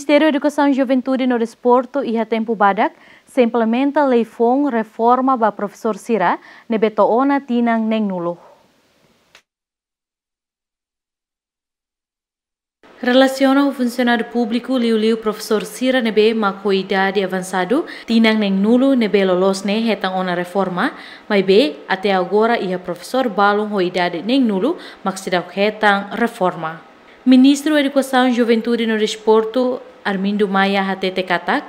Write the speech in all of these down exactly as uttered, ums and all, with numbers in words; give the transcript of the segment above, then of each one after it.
Ministériu Edukasaun, Juventude no Desportu iha tempu badak sei implementa lei foun reforma ba profesór sira ne'ebé to'o ona tinan neenulu. Relasiona ho funsionáriu públiku, liuliu profesór sira ne'ebé mak ho idade avansadu, tinan neenulu ne'ebé loloos ne'e hetan ona reforma, maibé até agora iha profesór balun ho idade neenulu mak seidauk hetan reforma. Ministru Edukasaun, Juventude no Desportu, Armindo Maia, hatete katak,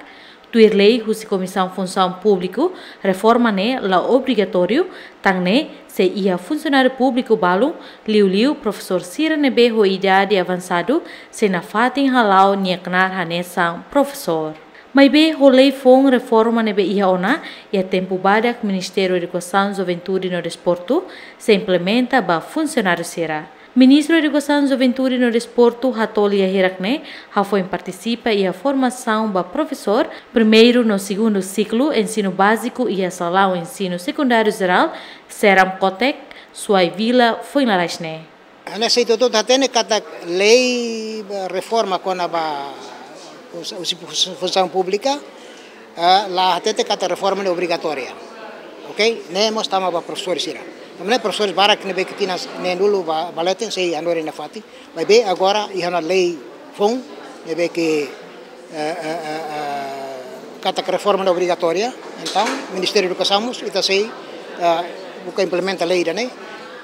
tuir lei husi Komisaun Funsaun Públiku, reforma ne'e la obrigatóriu, tan ne'e sei iha funsionáriu públiku balun, liuliu profesór sira ne'ebé ho idade avansadu, sei nafatin hala'o nia knaar hanesan profesór. Maibé ho lei foun reforma ne'ebé iha ona, iha tempu badak Ministériu Edukasaun, Juventude no Desportu sei implementa ba funsionáriu sira. Ministru Edukasaun, Juventude no Desportu hato'o lia hirak ne'e hafoin partisipa iha formasaun ba profesór primeiru no segundu siklu ensinu báziku iha Salaun Ensinu Sekundáriu Jerál Seram Kotek, Suai Vila, foin lalais ne'e. Hanesan ita hotu hatene katak lei, eh, reforma kona-ba us-, us-, us-, funsaun públika, eh, la hatete katak reforma ne'e obrigatória. Oke? Ne'e mós tama ba profesór sira. Tanba ne'e profesór barak ne'ebé ke tinan neenulu ba, ba leten sei hanorin nafatin. Maibé agora iha ona lei foun ne'ebé ke, eh, eh, eh, eh, katak reforma ne'e obrigatória. Entaun, Ministériu Edukasaun mós ita sei, eh, buka implementa lei ida-ne'e.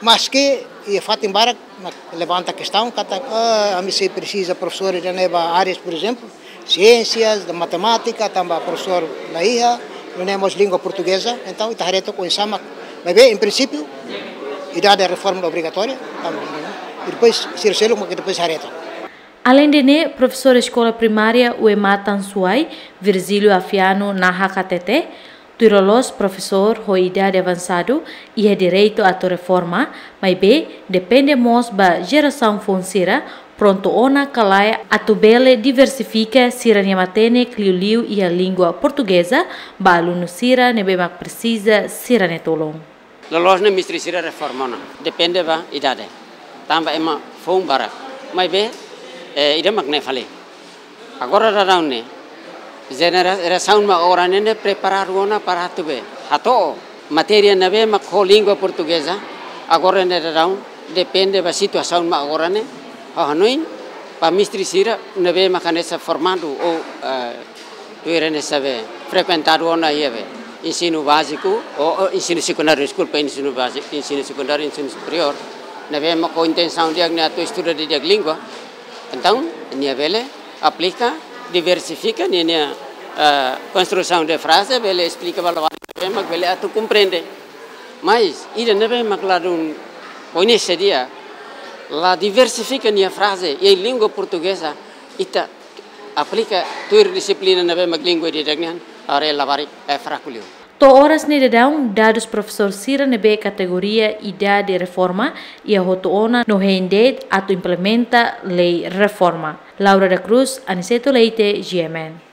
Maske iha fatin barak mak levanta kestaun katak, ah, ami sei presiza profesór ida-ne'e ba áreas, por ezemplu, siénsias, da matemátika, tanba profesór la iha, nune'e mós língua portugeza, entaun ita haree took oinsá mak, maibé, em princípio, idade reforma ne'e obrigatória, tanba, e depois, sira seluk mak depois haree took. Aleinde ne'e, profesór eskola primária Uematan Suai, Virgílio Afiano, nahak hatete, tuir loloos profesór ho idade avansadu iha direitu atu reforma, maibé depende mós ba jerasaun foun sira prontu ona ka lae atu bele diversifika sira-nia matenek liuliu iha língua portugeza ba alunu sira ne'ebé mak presiza sira-nia tulun. Loloos ne'e mestre sira reforma ona, depende ba idade. Tanba ema foun barak. Maibé, eh, ida mak ne'e fali. Agora daudaun ne'e, jenera-, jerasaun mak agora ne'e, ne'e preparadu ona para atu be hato'o matéria ne'ebé mak ho língua portugeza, agora ne'e daudaun, depende ba situasaun mak agora ne'e, ha'u hanoin, ba mestre sira ne'ebé mak hanesan formadu ou, eh, tuir hanesan be frekuentadu ona iha be ensinu báziku, ou, ou ensinu sekundáriu, deskulpa, ensinu báziku, ensinu sekundáriu, ensinu superiór, ne'ebé mak ho intensaun di'ak ne'e atu estuda didi'ak língua, entaun, nia bele aplika, diversifika nia, nia, eh, konstrusaun de fraze, bele esplika ba labarik ne'ebé mak bele atu komprende. Mas, ida ne'ebé mak ladún koñese di'ak, la diversifika nia fraze iha língua portugeza, ita aplika tuir dixiplina ne'ebé mak língua ida-idak nian, haree labarik, eh, fraku liu. To'o oras ne'e daudaun, dadus profesór sira ne'ebé kategoria idade reforma iha hotu ona no hein de'it atu implementa lei reforma. Laura da Cruz, Aniceto Leite, G M N.